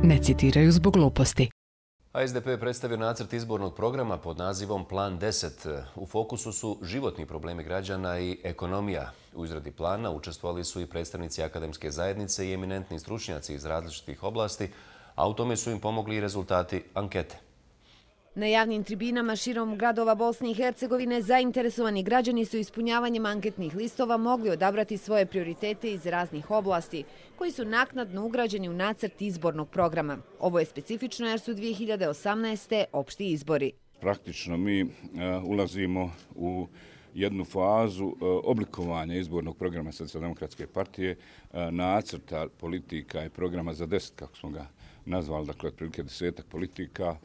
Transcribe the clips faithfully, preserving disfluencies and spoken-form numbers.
ne citiraju zbog gluposti. A S D P je predstavio nacrt izbornog programa pod nazivom Plan deset. U fokusu su životni problemi građana i ekonomija. U izradi plana učestvovali su i predstavnici akademske zajednice i eminentni stručnjaci iz različitih oblasti, a u tome su im pomogli i rezultati ankete. Na javnim tribinama širom gradova Bosne i Hercegovine zainteresovani građani su ispunjavanjem anketnih listova mogli odabrati svoje prioritete iz raznih oblasti, koji su naknadno ugrađeni u nacrt izbornog programa. Ovo je specifično jer su dvije hiljade osamnaeste. opšti izbori. Praktično mi ulazimo u jednu fazu oblikovanja izbornog programa Socijaldemokratske partije, nacrta politika i programa za deset, kako smo ga nazvali, dakle otprilike desetak politika,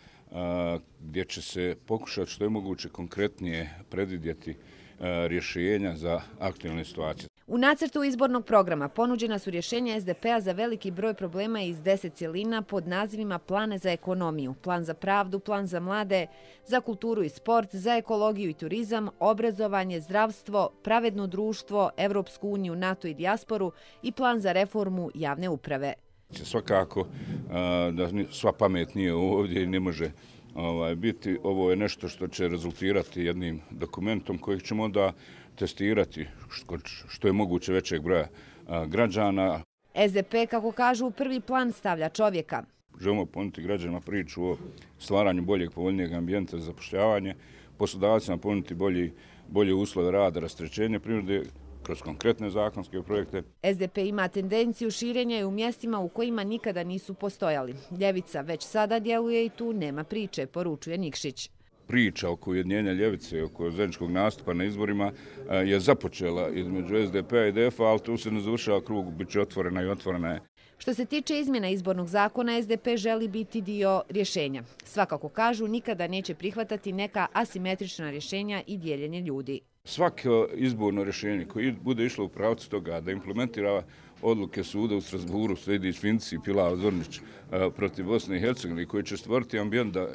gdje će se pokušati što je moguće konkretnije predvidjeti rješenja za aktualne situacije. U nacrtu izbornog programa ponuđena su rješenja S D P-a za veliki broj problema iz deset cjelina pod nazivima Plane za ekonomiju, Plan za pravdu, Plan za mlade, za kulturu i sport, za ekologiju i turizam, obrazovanje, zdravstvo, pravedno društvo, Evropsku uniju, NATO i dijasporu i Plan za reformu javne uprave. Svakako da sva pamet nije ovdje i ne može biti. Ovo je nešto što će rezultirati jednim dokumentom kojeg ćemo onda testirati što je moguće većeg broja građana. S D P, kako kažu, u prvi plan stavlja čovjeka. Želimo ponuditi građanima priču o stvaranju boljeg, povoljnijeg ambijenta za zapošljavanje, poslodavcima ponuditi bolje uslove rada, rasterećenje privrede kroz konkretne zakonske projekte. S D P ima tendenciju širenja i u mjestima u kojima nikada nisu postojali. Ljevica već sada djeluje i tu nema priče, poručuje Nikšić. Priča oko ujedinjenja ljevice, oko zajedničkog nastupa na izborima je započela između S D P-a i D F-a, ali tu se ne završava krug, bit će otvorena i otvorena je. Što se tiče izmjena izbornog zakona, S D P želi biti dio rješenja. Svakako kažu, nikada neće prihvatati neka asimetrična rješenja i dijeljenje ljudi. Svako izborno rješenje koje bude išlo u pravcu toga da implementira odluke suda u Strasburu, Sejdić, Finci, Pilao, Zornić protiv Bosne i Hercegovine, koji će stvoriti ambijent da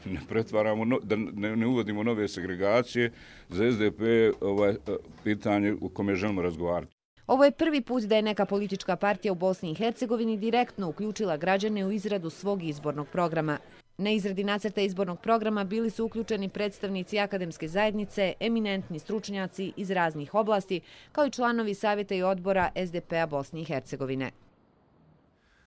ne pretvaramo, da ne uvodimo nove segregacije, za S D P ovaj pitanje u kome želimo razgovarati. Ovo je prvi put da je neka politička partija u Bosni i Hercegovini direktno uključila građane u izradu svog izbornog programa. Na izradi nacrta izbornog programa bili su uključeni predstavnici akademske zajednice, eminentni stručnjaci iz raznih oblasti, kao i članovi savjeta i odbora S D P-a Bosne i Hercegovine.